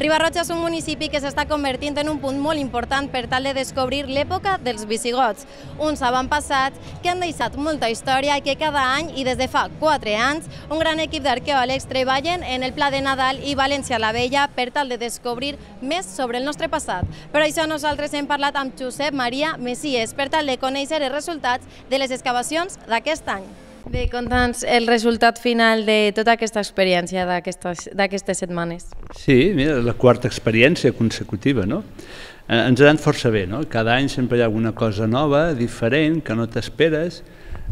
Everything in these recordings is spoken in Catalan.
Riba-roja és un municipi que s'està convertint en un punt molt important per tal de descobrir l'època dels visigots, uns avantpassats que han deixat molta història i que cada any, i des de fa 4 anys, un gran equip d'arqueòlegs treballen en el Pla de Nadal i València la Vella per tal de descobrir més sobre el nostre passat. Per això nosaltres hem parlat amb Josep Maria Messies per tal de conèixer els resultats de les excavacions d'aquest any. Bé, conta'ns el resultat final de tota aquesta experiència d'aquestes setmanes. Sí, mira, la quarta experiència consecutiva, no? Ens ha anat força bé, no? Cada any sempre hi ha alguna cosa nova, diferent, que no t'esperes.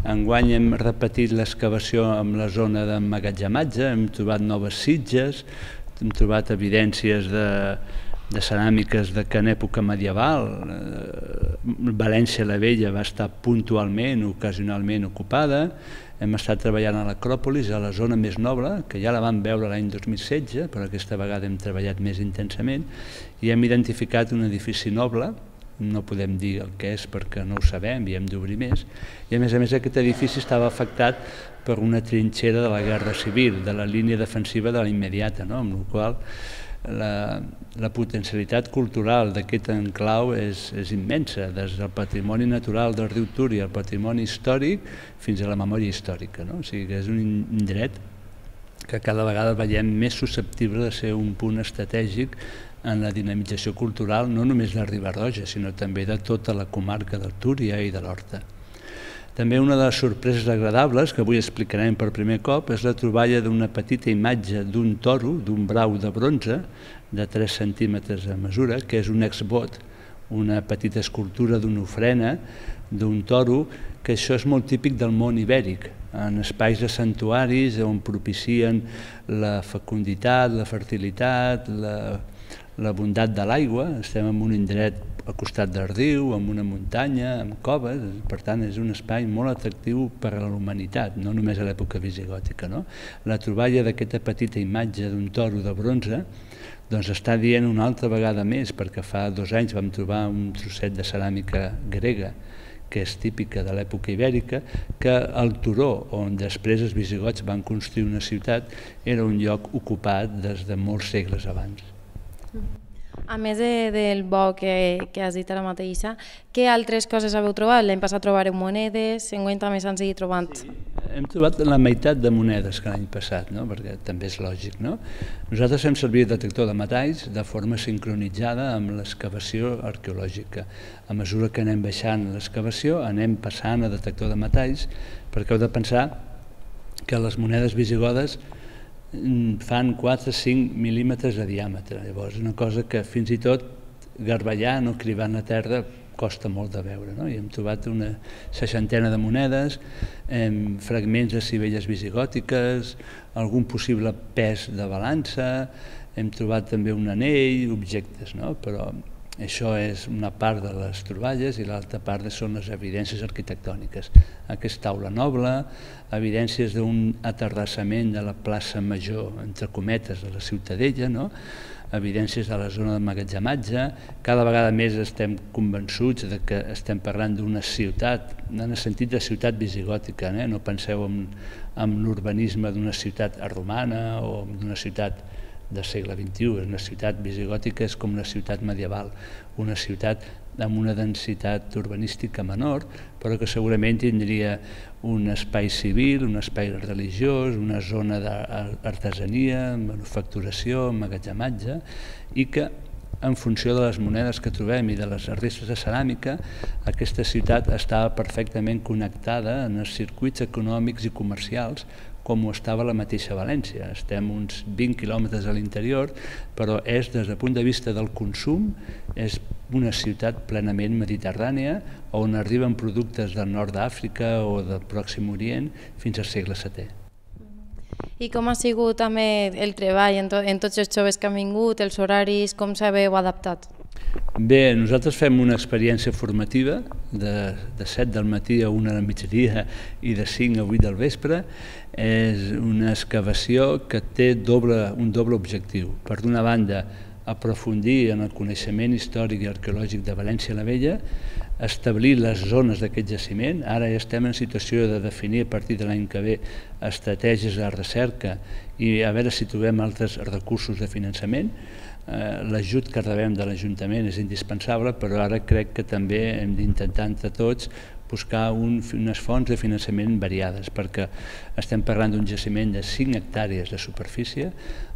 Enguany hem repetit l'excavació amb la zona d'emmagatzematge, hem trobat noves sitges, hem trobat evidències de ceràmiques que en època medieval València la Vella va estar puntualment, ocasionalment ocupada. Hem estat treballant a l'Acròpolis, a la zona més noble, que ja la vam veure l'any 2016, però aquesta vegada hem treballat més intensament, i hem identificat un edifici noble, no podem dir el que és perquè no ho sabem i hem d'obrir més, i a més aquest edifici estava afectat per una trinxera de la Guerra Civil, de la línia defensiva de la immediata, amb la qual la potencialitat cultural d'aquest enclau és immensa, des del patrimoni natural del riu Túria al patrimoni històric fins a la memòria històrica. O sigui que és un indret que cada vegada veiem més susceptible de ser un punt estratègic en la dinamització cultural, no només de Riba-roja, sinó també de tota la comarca del Túria i de l'Horta. També una de les sorpreses agradables, que avui explicarem per primer cop, és la troballa d'una petita imatge d'un toro, d'un brau de bronze, de 3 centímetres de mesura, que és un exvot, una petita escultura d'una ofrena, d'un toro, que això és molt típic del món ibèric, en espais de santuaris on propicien la fecunditat, la fertilitat, la bondat de l'aigua. Estem en un indret al costat del riu, amb una muntanya, amb coves, per tant és un espai molt atractiu per a la humanitat, no només a l'època visigòtica. La troballa d'aquesta petita imatge d'un toro de bronze doncs està dient una altra vegada més, perquè fa 2 anys vam trobar un trosset de ceràmica grega que és típica de l'època ibèrica, que el turó on després els visigots van construir una ciutat era un lloc ocupat des de molts segles abans. A més del bo que has dit ara mateixa, què altres coses haveu trobat? L'any passat trobareu monedes, enguany també s'han seguit trobant. Hem trobat la meitat de monedes que l'any passat, perquè també és lògic. Nosaltres fem servir el detector de metalls de forma sincronitzada amb l'excavació arqueològica. A mesura que anem baixant l'excavació, anem passant a detector de metalls, perquè heu de pensar que les monedes visigodes fan 4-5 mil·límetres de diàmetre. Llavors, una cosa que fins i tot garbellant o cribant a terra costa molt de veure. I hem trobat una 60ena de monedes, fragments de sivelles visigòtiques, algun possible pes de balança, hem trobat també un anell, objectes, però això és una part de les troballes i l'altra part són les evidències arquitectòniques. Aquesta taula noble, evidències d'un aterrassament de la plaça Major, entre cometes, de la Ciutadella, evidències de la zona d'emmagatzematge. Cada vegada més estem convençuts que estem parlant d'una ciutat, en el sentit de ciutat visigòtica. No penseu en l'urbanisme d'una ciutat romana o d'una ciutat del segle XXI. Una ciutat visigòtica és com una ciutat medieval, una ciutat amb una densitat urbanística menor, però que segurament tindria un espai civil, un espai religiós, una zona d'artesania, manufacturació, emmagatzematge, i que en funció de les monedes que trobem i de les restes de ceràmica, aquesta ciutat estava perfectament connectada en els circuits econòmics i comercials com ho estava la mateixa València. Estem uns 20 quilòmetres a l'interior, però és, des del punt de vista del consum, és una ciutat plenament mediterrània, on arriben productes del nord d'Àfrica o del Pròxim Orient fins al segle VII. I com ha sigut també el treball en tots els joves que han vingut, els horaris, com s'haveu adaptat? Bé, nosaltres fem una experiència formativa de 7 del matí a 1 del migdia i de 5 a 8 del vespre. És una excavació que té un doble objectiu. Per d'una banda, aprofundir en el coneixement històric i arqueològic de València la Vella, establir les zones d'aquest jaciment. Ara ja estem en situació de definir a partir de l'any que ve estratègies de recerca i a veure si trobem altres recursos de finançament. L'ajut que rebem de l'Ajuntament és indispensable, però ara crec que també hem d'intentar entre tots buscar unes fonts de finançament variades, perquè estem parlant d'un jaciment de 5 hectàrees de superfície,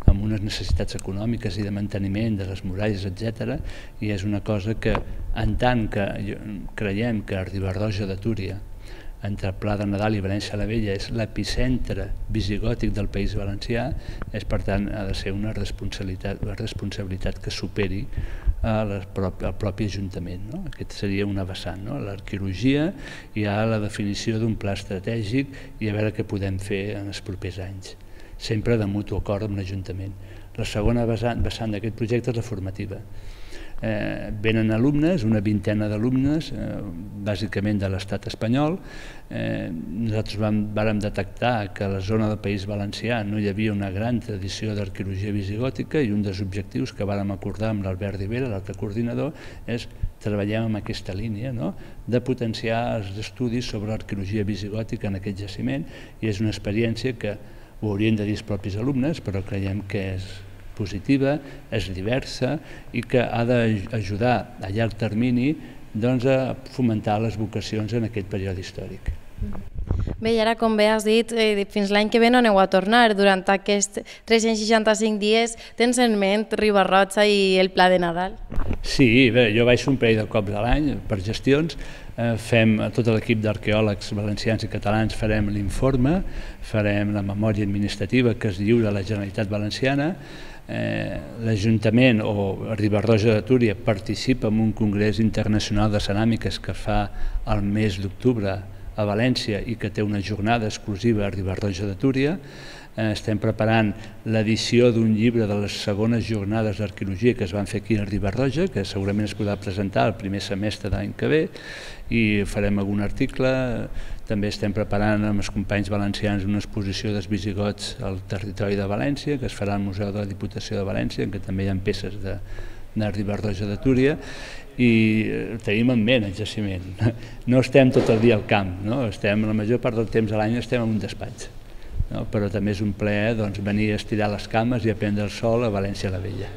amb unes necessitats econòmiques i de manteniment de les muralles, etc. I és una cosa que, en tant que creiem que Riba-roja de Túria, entre Pla de Nadal i València la Vella, és l'epicentre visigòtic del País Valencià, per tant ha de ser una responsabilitat que superi el propi Ajuntament. Aquest seria una vessant, l'arqueologia i la definició d'un pla estratègic i a veure què podem fer en els propers anys, sempre de mutu acord amb l'Ajuntament. La segona vessant d'aquest projecte és la formativa. Venen alumnes, una vintena d'alumnes, bàsicament de l'estat espanyol. Nosaltres vàrem detectar que a la zona del País Valencià no hi havia una gran tradició d'arqueologia visigòtica i un dels objectius que vàrem acordar amb l'Albert Rivera, l'altre coordinador, és treballem en aquesta línia de potenciar els estudis sobre l'arqueologia visigòtica en aquest jaciment, i és una experiència que ho haurien de dir els propis alumnes, però creiem que és positiva, és diversa i que ha d'ajudar a llarg termini a fomentar les vocacions en aquest període històric. Bé, i ara, com bé has dit, fins l'any que ve no aneu a tornar. Durant aquests 365 dies tens en ment Riba-roja i el Pla de Nadal? Sí, bé, jo baixo un parell de cops a l'any per gestions. Tot l'equip d'arqueòlegs valencians i catalans farem l'informe, farem la memòria administrativa que es lliura a la Generalitat Valenciana. L'Ajuntament o Riba-roja de Túria participa en un congrés internacional de ceràmiques que fa el mes d'octubre a València i que té una jornada exclusiva a Riba-roja de Túria. Estem preparant l'edició d'un llibre de les segones jornades d'arqueologia que es van fer aquí a Riba-roja, que segurament es podrà presentar el primer semestre de l'any que ve, i farem algun article. També estem preparant amb els companys valencians una exposició dels visigots al territori de València, que es farà al Museu de la Diputació de València, en què també hi ha peces de Riba-roja de Túria, i tenim en ment el jaciment. No estem tot el dia al camp, la major part del temps a l'any estem en un despatx, però també és un plaer venir a estirar les cames i a prendre el sol a València la Vella.